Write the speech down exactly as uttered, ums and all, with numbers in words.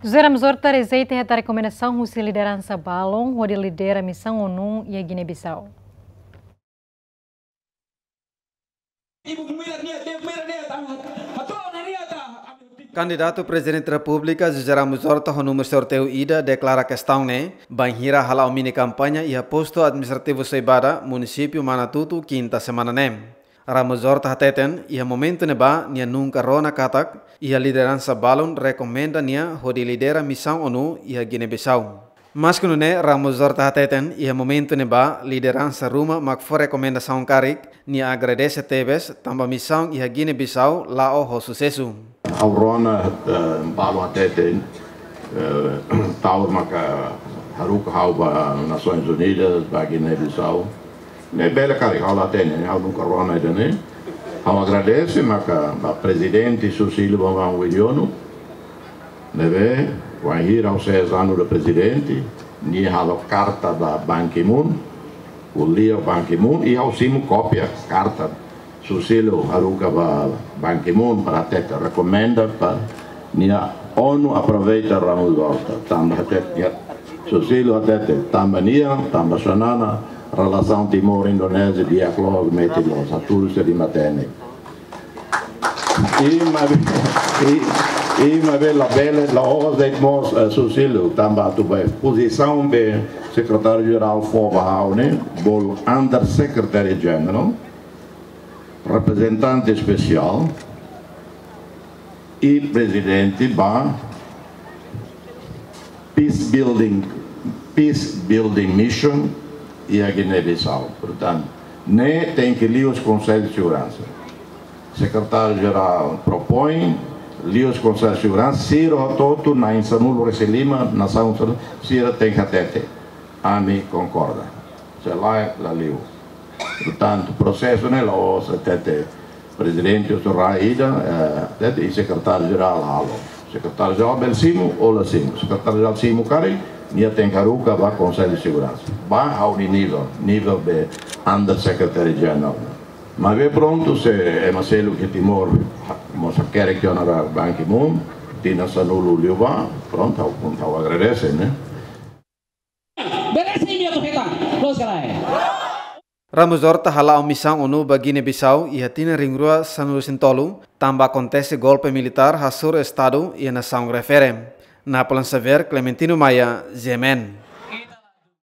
José Ramos Horta rejeita hetan rekomendasaun husi lideransa balun hodi lidera misaun ONU iha Guiné-Bissau. Kandidatu Prezidente Repúblika José Ramos Horta ho númeru sorteiu ida deklara kestaun ne'e bainhira hala'o mini kampaña iha postu administrativu Soibada, munisípiu Manatutu, kinta semana ne'e. Ramos Horta hateten, iha momentu ne'ebá nia nunka rona katak iha lideransa balun rekomenda nia hodi lidera misaun ONU iha Guiné-Bissau. Maske nune'e, Ramos Horta hateten, iha momentu ne'ebá lideransa ruma mak fó rekomendasaun karik, nia agradese tebes tanba misaun iha Guiné-Bissau la'o ho susesu. Ha'u rona, eh, balun hateten, eh, Taur maka haruka ha'u ba Nasoins Unidas, ba Guiné-Bissau. Ne'e bele karik, ha'u la hatene, ha'u nunka rona ida-ne'e. Ha'u agradese maka ba Prezidente Susilo Bambang Yudhoyono, ne'ebé wainhira ha'u seis anos de prezidente, nia halo karta ba Ban Ki-moon, ko'alia Ban Ki-moon, i ha'u simu kópia karta Susilo haruka ba Ban Ki-moon para hatete rekomenda ba nia ONU aproveita Ramos Horta, tanba hatete nia, Susilo hatete tanba nia, tanba sua nana, relasaun Timor-Indonézia di'ak loos, metin loos, hatudu sei lima T N. I maibé, i, i maibé labele, la'ós de'it mós, eh, Susilo, tanba atu ba pozisaun be Sekretáriu-Jerál fó ba ha'u ne'e, bolu Under Secretary General, reprezentante espesiál, i prezidente ba peace building, peace building mission iha Guiné-Bissau. Portantu, ne'e tenke liuhusi Konsellu de Seguransa. Sekretáriu-Jerál propoin, liuhusi Konsellu de Seguransa, sira hotu-hotu na'in sanulu-resin-lima, nasaun sira, sira tenke hatete: "Ami konkorda." Se lae, la liu. Portantu, prosesu ne'e la'ós hatete prezidente ou rai ida, eh, hatete i Sekretáriu-Jerál halo. Sekretáriu-Jerál bele simu ou la simu. Sekretáriu-Jerál simu karik, nia tenke haruka ba Konsellu de Seguransa. Ba ha'u nia nivel, nivel be Under Secretary General. Maibé prontu, se ema seluk iha Timor mós hakerek tiha ona ba Ban Ki-moon, tinan sanulu liu ba, prontu, ha'u, ha'u agradese, ne'e? Bele simu atu hetan, loos ka lae? Ramos Horta hala'o misaun ONU ba Guiné-Bissau iha tinan rihun rua sanulu-resin-tolu, tanba akontese golpe militár hasoru Estadu iha nasaun refere. Napoleon Xavier, Clementino Maia, G M N.